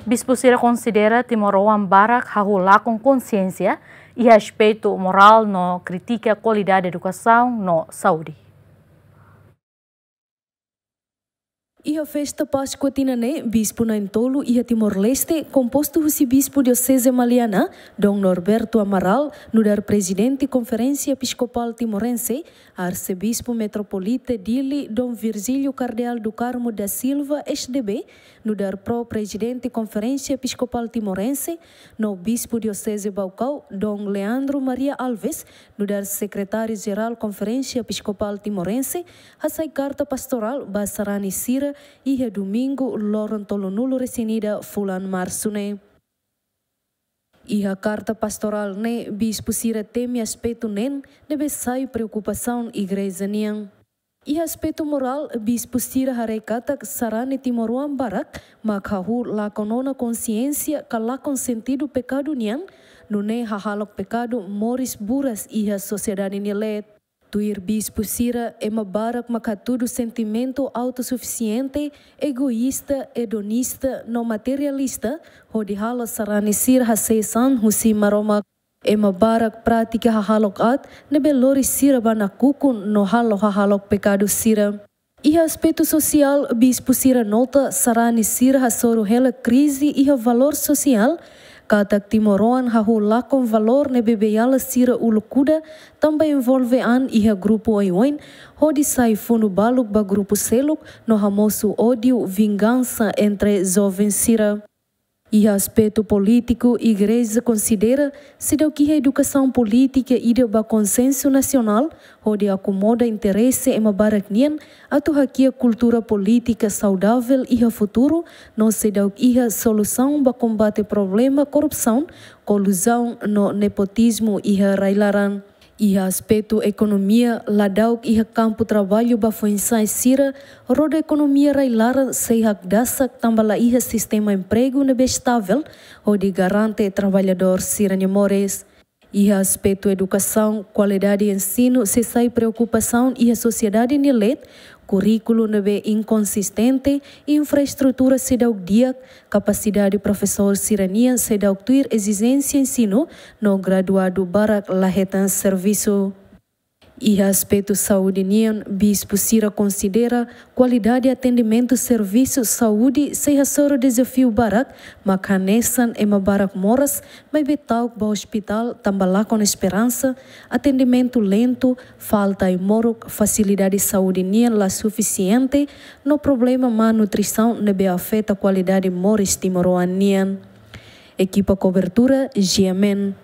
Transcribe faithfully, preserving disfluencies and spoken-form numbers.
Bispu sira konsidera timoroan barak hahú lakon konsiénsia iha aspetu morál no kritika kualidade edukasaun no saúde. Iha festa Páskua tinan ne'e, bispu na'in-tolu iha Timor-Leste, kompostu husi Bispu Dioseze Maliana, Dom Norberto Amaral, nu'udar Prezidente Konferénsia Episkopál Timorense, Arsebispu Metropolita Dili, Dom Virgílio Kardeál do Carmo da Silva, S D B, nu'udar Pro-Prezidente Konferénsia Episkopál Timorense, no Bispu Dioseze Baucau, Dom Leandro Maria Alves, nu'udar Sekretáriu-Jerál Konferénsia Episkopál Timorense, hasai karta pastorál ba sarani sira iha Domingu, loron tolunulu-resin-ida fulan Marsu ne'e. Iha karta pastorál ne'e, bispu sira temi aspetu neen ne'ebé sai preokupasaun igreja nian. Iha aspetu morál, bispu sira haree katak sarani timoroan barak mak hahú lakon ona konsiénsia ka lakon sentidu pekadu nian, nune'e hahalok pekadu moris buras iha sosiedade nia leet. Tuir bispu sira, ema barak mak hatudu sentimentu autosufisiente, egoísta, edonista no materialista, hodi halo sarani sira hasees an husi Maromak. Ema barak pratika hahalok aat ne'ebé lori sira ba nakukun no halo hahalok pekadu sira. Iha aspetu sosiál, bispu sira nota sarani sira hasoru hela krize iha valór sosiál, katak timoroan hahú lakon valór ne'ebé beiala sira uluk kuda, tanba envolve an iha grupu oioin, hodi sai funu baluk ba grupu seluk, no hamosu ódiu, vingansa entre joven sira. Iha aspetu polítiku, igreja konsidera seidauk iha edukasaun polítika ida ba konsensu nasionál, hodi akomoda interese ema barak nian, atu hakiak kultura polítika saudavel iha futuru, no seidauk iha solusaun ba kombate problema korrupsaun, koluzaun no nepotizmu iha rai-laran. Iha aspetu ekonomia, ladauk iha kampu traballu ba foin-sa'e sira, roda ekonomia rai-laran sei hakdasak tanba la iha sistema empregu ne'ebé estavel, hodi garante traballadór sira-nia moris. Iha aspetu edukasaun, kualidade ensinu sei sai preokupasaun iha sosiedade nia leet, kurríkulu ne'ebé inkonsistente, infraestrutura seidauk di'ak, kapasidade profesór sira-nian seidauk tuir ezijénsia ensinu, no graduadu barak la hetan servisu. Iha aspetu saúde nian, bispu sira konsidera kualidade atendimentu servisu saúde sei hasoru dezafiu barak, mak hanesan ema barak moras, maibé ta'uk ba ospitál tanba lakon esperansa, atendimentu lentu, falta ai-moruk, fasilidade saúde nian la sufisiente, no problema má nutrisaun ne'ebé afeta kualidade moris timoroan nian. Ekipa kobertura, G M N.